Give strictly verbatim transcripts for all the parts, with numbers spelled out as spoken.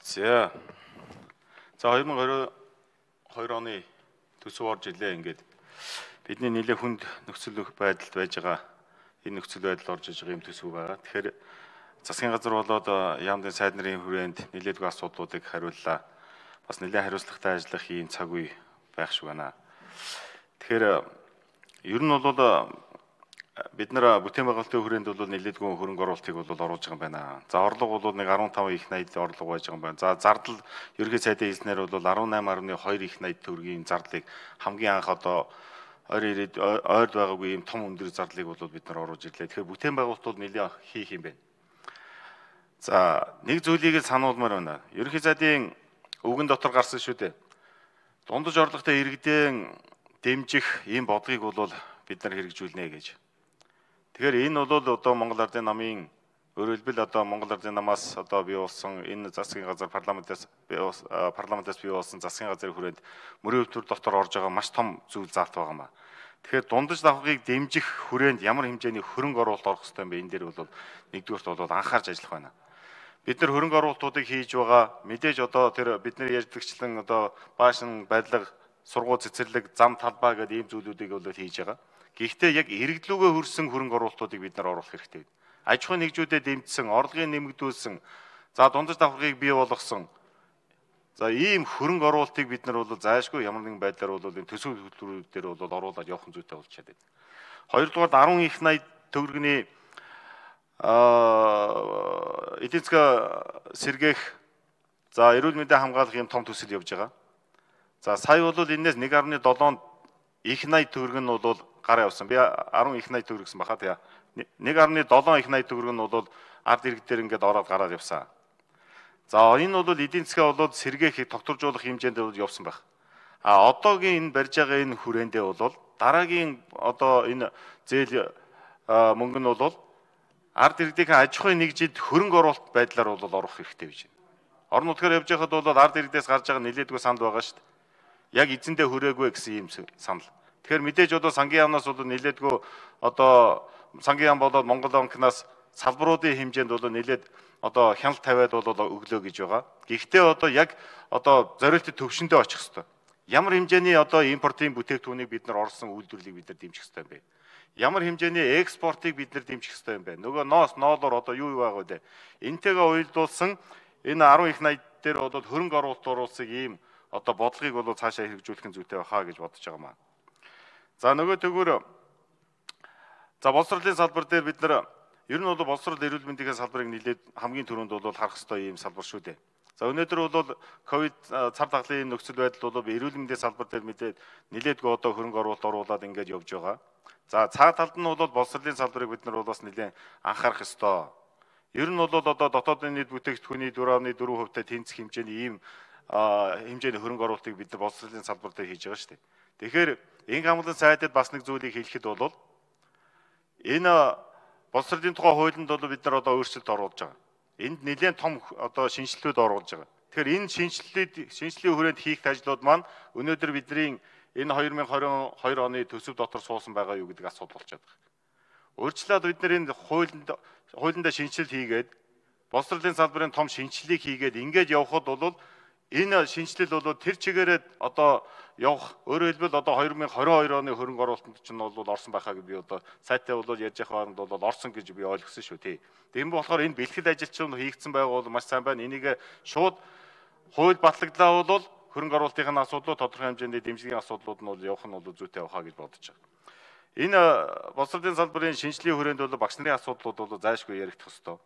За. За хоёр мың и хоёр оны төсөв орж илээ ингээд бидний нэлээ хүнд нөхцөл байдалд байж байгаа энэ нөхцөл байдал орж иж байгаа юм төсөв байгаа. Тэгэхээр засгийн газар болоод яамдын сайд нарын хүрээнд нэлээдгүй асуудлуудыг хариуллаа. Бас нэлээд хариуцлагатай ажиллах ийм цаг үе байх шиг байна. Тэгэхээр ер нь бол бид нар бүтээн байгуулалтын хүрээнд бол нэлээдгүй хөрөнгө оруулалтыг бол оруулж байгаа юм байна. За орлого бол нэг арван таван их найд орлого байж байгаа юм байна. За зардал ерөнхий сайдын хэлснээр бол арван найман арван хоёр их найд төгрөгийн зардлыг хамгийн анх одоо ойр ирээд ойрд байгаагүй ийм том өндөр зардлыг бол бид нар оруулж ирлээ. Тэгэхээр бүтээн байгуулалт бол нэлээд хийх юм байна. За нэг зүйлийг л сануулмаар байна. Ерөнхий сайдын өвгөн дотор гарсан шүү дээ. Дундаж орлоготой иргэдэн дэмжих ийм бодлогыг бол бид нар хэрэгжүүлнэ гэж. Тэгэхээр энэ бол одоо Монгол Ардын намын өөрөөр хэлбэл одоо Монгол Ардын намаас одоо бий болсон энэ засгийн газар парламентаас парламентаас бий болсон засгийн газрын хүрээнд мөрийн өвтөр дотор орж байгаа маш том зүйл заалт байгаа юм аа. Тэгэхээр дундаж давхрыг дэмжих хүрээнд ямар хэмжээний хөрөнгө оруулалт орох хэрэгтэй юм бэ? Энэ дээр бол нэгдүгээрт бол анхаарч ажиллах байна. Бид нар хөрөнгө оруулалтуудыг хийж байгаа мэдээж одоо тэр бидний ярьдагчлан одоо баашин байдлага сургууль цэцэрлэг зам талбай гэдэг ийм зүйлүүдийг бол хийж байгаа. Гэхдээ яг иргэдлүүгээ хүрсэн хөрөнгө оруулалтуудыг бид нар оруулах хэрэгтэй. Аж ахуйн нэгжүүдэд дэмжсэн, орлогыг нэмэгдүүлсэн, за дундаж давхрыг бий болгосон. За ийм хөрөнгө оруулалтыг бид нар бол зайлшгүй ямар нэгэн байдлаар бол энэ төсөв хөтөлбөрүүдээр бол оруулаад явах зүйтэй болж чаддаг. Хоёрдугаар арван их найд төгрөгийн аа эдийн засаг сэргээх за эрүүл мэндийн хамгаалах юм том төсөл явж байгаа. За сая бол энэс нэг гаруй долоон их найд төгрөг нь бол гараа явсан. Би арван их найд төгрөг гэсэн баха тий. нэг гаруй долоон их найд төгрөг нь бол ард иргэдээр ингээд ороод гараад явсан. За энэ бол эдийн засгаа болоод сэргээх тогтворжуулах хэмжээнд бол явсан байх. А одоогийн энэ барьж байгаа энэ хүрээндээ бол дараагийн одоо энэ зээл мөнгө нь бол ард иргэдийн аж ахуйн нэгжид хөрөнгө оруулалт байдлаар бол орох хэрэгтэй гэж байна. Орон нутгаар явж байхад бол ард иргэдээс гарч байгаа нэлээдгүй санал байгаа шүү дээ. Яг эзэндээ хүрээгүй гэсэн ийм санал. Тэгэхээр мэдээж одоо сангийн яамнаас бол нэлээдгүй одоо сангийн яам болоод Монгол банкнаас салбаруудын хэмжээнд бол нэлээд одоо хяналт тавиад бол өглөө гэж байгаа. Гэхдээ одоо яг одоо зориултын төвшөндөө очих хэрэгтэй. Ямар хэмжээний одоо импортын бүтээгдэхүүнийг бид нар орсон үйлдвэрлэлийг бид нар дэмжих хэрэгтэй юм бэ? Ямар хэмжээний экспортыг бид нар дэмжих хэрэгтэй юм бэ? Нөгөө ноос ноолоор одоо юу юу байгаа вэ? Энтэйгээ уялдуулсан энэ арван их найд дээр бол хөрөнгө оруулалт оруулсыг ийм одоо бодлогыг бол цаашаа хэрэгжүүлэх зүйтэй байхаа гэж бодож байгаа маа. За нөгөө төгөөр за боловсролын салбар дээр бид нар ер нь бол боловсрол эрүүл мэндийн салбарыг нэлээд хамгийн түрүүнд бол харах ёстой ийм салбар шүү дээ. За өнөөдөр бол ковид цар тахлын нөхцөл байдал бол эрүүл мэндийн салбар дээр мэдээд нэлээдгүй одоо хөрөнгө оруулалт оруулаад ингээд явж байгаа. За цаа талд нь бол боловсролын салбарыг бид нар бас нэлээд анхаарах ёстой. Ер нь бол одоо дотоодын нийт бүтээгдэхүүний дөрөв дөрвөн хувьтай тэнцэх хэмжээний ийм хэмжээний хөрөнгө оруулалтыг бид нар боловсролын салбар дээр хийж байгаа шүү дээ. Тэгэхээр энх хамгаалалтын сайдад бас нэг зүйлийг хэлэхэд бол энэ боловсролын тухай хуулинд бол бид нар одоо өөрчлөлт оруулж байгаа. Энд нэлээд том одоо шинжилгүүд оруулж байгаа. Тэгэхээр энэ шинжилгээг шинжилгээний хүрээнд хийх ажлууд маань өнөөдөр бидний энэ хоёр мың и хоёр оны төсөв дотор суусан байгаа юу гэдэг асуудал болчиход байна. Өөрчлөлт бид нар энэ хуулинд хуулиндаа шинжилэл хийгээд боловсролын салбарын том шинжилгээг хийгээд ингээд явхад бол энэ шинжилэл бол тэр чигээрээ одоо явах өөрөөр хэлбэл одоо хоёр мың и хоёр оны хөрөнгө оруулалтанд ч нь бол орсон байхаа гэж би одоо сайттай бол ярьж явах хооронд бол орсон гэж би ойлгосон шүү тий. Тийм болохоор энэ бэлтгэл ажил чинь хийгдсэн байгаа бол маш сайн байна. Энийг шууд хууль батлагдлаа бол хөрөнгө оруулалтын асуудлууд тодорхой хэмжээний дэмжлэгийн асуудлууд нь бол явах нь бол зүйтэй байхаа гэж бодож байгаа. Энэ боловсролын салбарын шинжилгээний хүрээнд бол багш нарын асуудлууд бол зайлшгүй яригдах ёстой.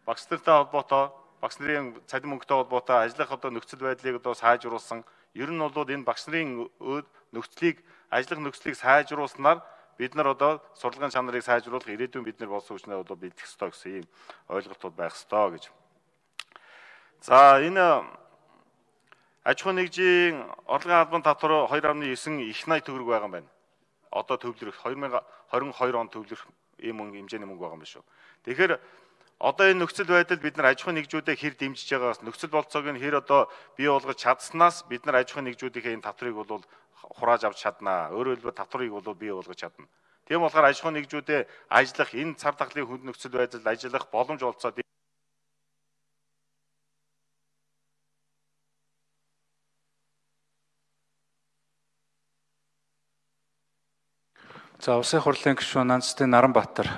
Багш нартай холбоотой багш нарын цалин мөнгөтэй холбоотой ажиллах одоо нөхцөл байдлыг одоо сайжруулсан. Ер нь бол энэ багш нарын нөхцөлийг ажиллах нөхцөлийг сайжруулснаар бид нар одоо сурлагын чанарыг сайжруулах ирээдүйн бид нар болсон хүчнээ одоо бэлдэх ёстой гэсэн ийм ойлголтууд байх ёстой гэж. За энэ аж ахуйн нэгжийн орлогын албан татвар хоёр амны девять их найд төгрөг байгаа юм байна. Одоо төвлөрөх хоёр мың и хоёр он төвлөрөх ийм мөнгө хэмжээний мөнгө байгаа юм шүү. Тэгэхээр одоо энэ нөхцөл байдал бид нар аж ахуйн нэгжүүдэд хэр дэмжиж байгаагаас нөхцөл болцоог нь хэр одоо бий болгож чадсанаас бид нар аж ахуйн нэгжүүдийн энэ татварыг бол хурааж авч чаднаа. Өөрөөр хэлбэл татварыг бол бий болгож чадна. Тийм болохоор аж ахуйн нэгжүүдэд ажиллах энэ цар тахлын хүнд нөхцөл байдалд ажиллах боломж олцоод За улсын хурлын гишүүн Нанцтай Наранбаатар.